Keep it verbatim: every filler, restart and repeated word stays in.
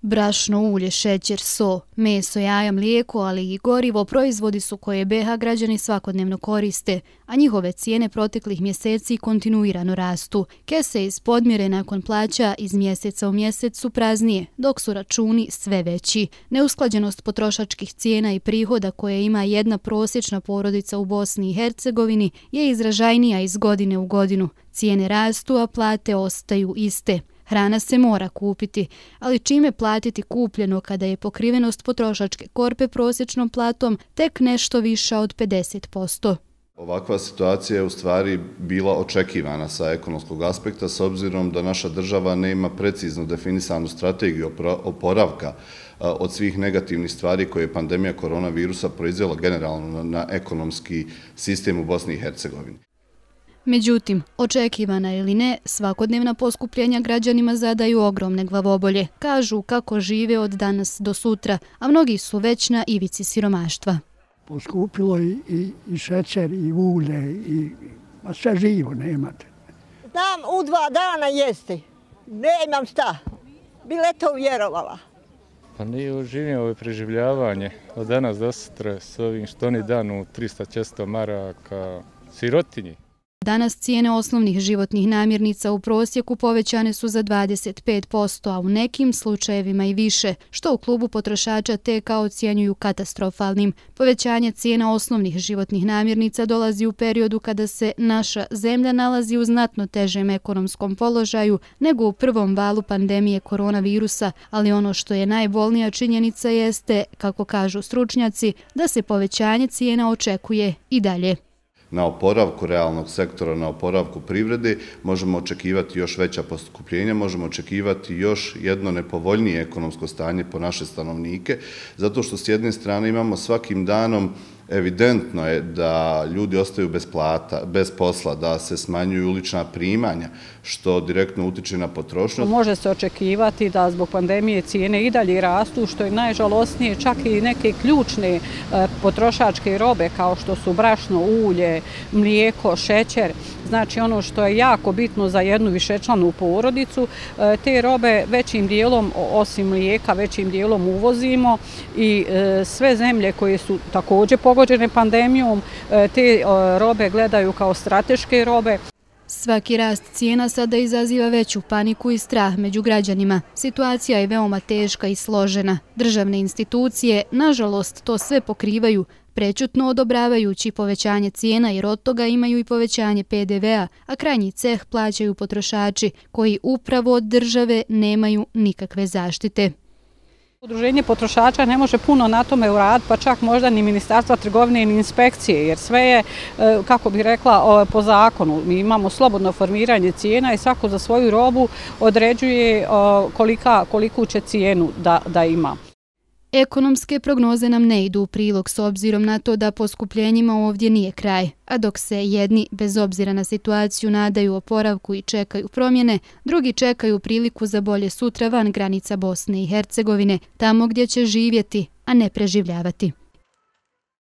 Brašno, ulje, šećer, so, meso, jaja, mlijeko, ali i gorivo proizvodi su koje be ha građani svakodnevno koriste, a njihove cijene proteklih mjeseci kontinuirano rastu. Kese iz podmjere nakon plaća iz mjeseca u mjesec su praznije, dok su računi sve veći. Neusklađenost potrošačkih cijena i prihoda koje ima jedna prosječna porodica u Bosni i Hercegovini je izražajnija iz godine u godinu. Cijene rastu, a plate ostaju iste. Hrana se mora kupiti, ali čime platiti kupljeno kada je pokrivenost potrošačke korpe prosječnom platom tek nešto viša od pedeset posto? Ovakva situacija je u stvari bila očekivana sa ekonomskog aspekta s obzirom da naša država nema precizno definisanu strategiju oporavka od svih negativnih stvari koje je pandemija koronavirusa proizvela generalno na ekonomski sistem u Bosni i Hercegovini. Međutim, očekivana ili ne, svakodnevna poskupljenja građanima zadaju ogromne glavobolje. Kažu kako žive od danas do sutra, a mnogi su već na ivici siromaštva. Poskupilo i, i, i šećer, i ulje, i a sve živo nemate. Znam u dva dana jesti, nemam šta, bi le to vjerovala. Pa nije živim ovo preživljavanje od danas do sutra s ovim što oni danu trista često maraka sirotinji. Danas cijene osnovnih životnih namirnica u prosjeku povećane su za dvadeset pet posto, a u nekim slučajevima i više, što u klubu potrošača te kao ocjenjuju katastrofalnim. Povećanje cijena osnovnih životnih namirnica dolazi u periodu kada se naša zemlja nalazi u znatno težem ekonomskom položaju nego u prvom valu pandemije koronavirusa, ali ono što je najbolnija činjenica jeste, kako kažu stručnjaci, da se povećanje cijena očekuje i dalje. Na oporavku realnog sektora, na oporavku privrede možemo očekivati još veća poskupljenja, možemo očekivati još jedno nepovoljnije ekonomsko stanje po naše stanovnike, zato što s jedne strane imamo svakim danom evidentno je da ljudi ostaju bez plata, bez posla, da se smanjuju ulična primanja, što direktno utiče na potrošnju. Može se očekivati da zbog pandemije cijene i dalje rastu, što je najžalosnije, čak i neke ključne potrošačke robe kao što su brašno, ulje, mlijeko, šećer. Znači ono što je jako bitno za jednu višečlanu porodicu, te robe većim dijelom, osim mlijeka, većim dijelom uvozimo i sve zemlje koje su također pogođene pandemijom, te robe gledaju kao strateške robe. Svaki rast cijena sada izaziva veću paniku i strah među građanima. Situacija je veoma teška i složena. Državne institucije, nažalost, to sve pokrivaju, prečutno odobravajući povećanje cijena jer od toga imaju i povećanje pe de ve a, a krajnji ceh plaćaju potrošači koji upravo od države nemaju nikakve zaštite. Udruženje potrošača ne može puno na tome uraditi, pa čak možda ni Ministarstva trgovine ni inspekcije, jer sve je, kako bih rekla, po zakonu. Mi imamo slobodno formiranje cijena i svako za svoju robu određuje kolika, koliku će cijenu da, da ima. Ekonomske prognoze nam ne idu u prilog s obzirom na to da poskupljenjima ovdje nije kraj, a dok se jedni, bez obzira na situaciju, nadaju oporavku i čekaju promjene, drugi čekaju priliku za bolje sutra van granica Bosne i Hercegovine, tamo gdje će živjeti, a ne preživljavati.